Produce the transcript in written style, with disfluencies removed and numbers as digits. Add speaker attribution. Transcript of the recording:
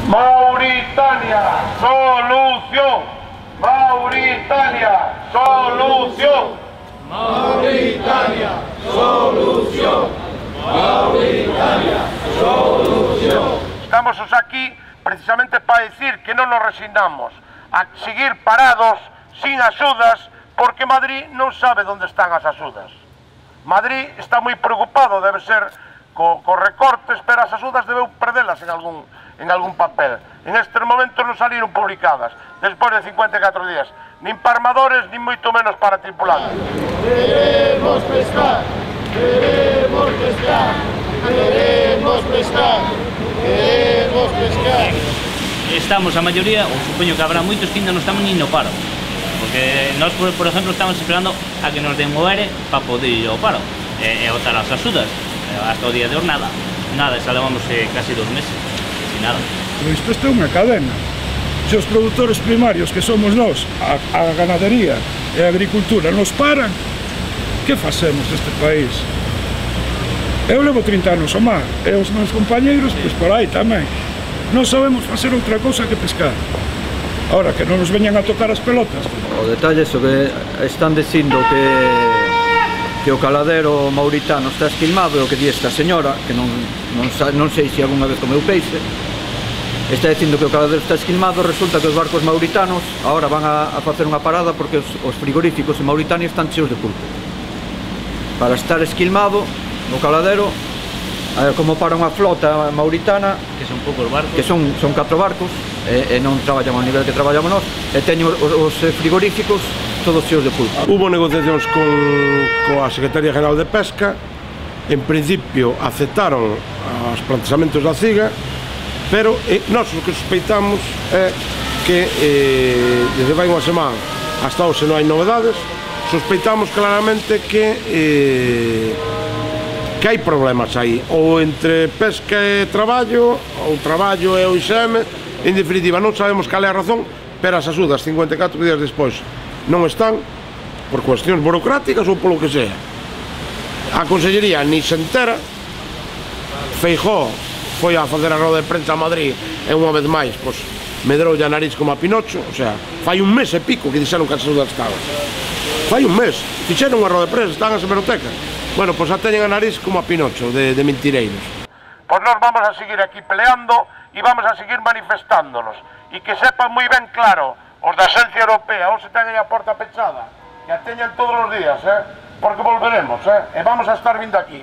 Speaker 1: Mauritania, solución. Mauritania, solución.
Speaker 2: Mauritania, solución. Mauritania, solución.
Speaker 1: Estamos aquí precisamente para decir que non nos resignamos a seguir parados, sin axudas, porque Madrid non sabe onde están as axudas. Madrid está moi preocupado, debe ser, co recortes, pero as axudas debeu perdelas en algún papel. En estes momentos non saliron publicadas, despois de 54 días, nin para armadores, nin moito menos para tripulantes.
Speaker 2: Queremos pescar, queremos pescar, queremos pescar, queremos pescar.
Speaker 3: Estamos a maioría, ou supoño que habrá moitos que ainda non estamos nin no paro. Porque nós, por exemplo, estamos esperando a que nos den o ERE para poder ir ao paro e votar as axudas. Hasta o día de hoy nada, xa levamos casi 2 meses, sin nada.
Speaker 4: Pero isto é unha cadena. Se os produtores primarios que somos nós, a ganadería e a agricultura nos paran, que facemos deste país? Eu levo 30 anos ao mar, e os meus compañeiros, pois por aí tamén. Non sabemos facer outra cousa que pescar. Ahora, que non nos veñan a tocar as pelotas.
Speaker 5: O detalle é que están dicindo que o caladero mauritano está esquilmado, e o que di esta señora, que non sei se algunha vez comeu peixe, está dicindo que o caladero está esquilmado. Resulta que os barcos mauritanos agora van a facer unha parada porque os frigoríficos en Mauritania están cheos de pulpo. Para estar esquilmado no caladero, como para unha flota mauritana,
Speaker 3: que son poucos barcos,
Speaker 5: que son 4 barcos, e non traballan ao nivel que traballamos nós, e teñen os frigoríficos todos cheos de pulpo.
Speaker 1: Hubo negociacións coa Secretaría General de Pesca. En principio aceptaron os plantexamentos da CIGA, pero nós o que sospeitamos é que desde vai unha semana hasta hoxe non hai novedades. Sospeitamos claramente que hai problemas aí, ou entre pesca e traballo, ou traballo e o ISM. En definitiva, non sabemos cal é a razón, pero as axudas 54 días despois non están, por cuestións burocráticas ou polo que sea. A Consellería ni se entera. Feijóo foi a facer a roda de prensa a Madrid e unha vez máis, pois, medroulle a nariz como a Pinocho. O sea, fai un mes e pico que dixeron que as axudas estaban. Fai un mes, fixeron unha roda de prensa, están as hemerotecas. Bueno, pois a teñen a nariz como a Pinocho, de mentireiros. Pois nós vamos a seguir aquí peleando e vamos a seguir manifestándonos. E que sepan moi ben claro, os da Axencia Europea, ou se teñen a porta pechada, que a teñen todos os días, porque volveremos, e vamos a estar vindo aquí.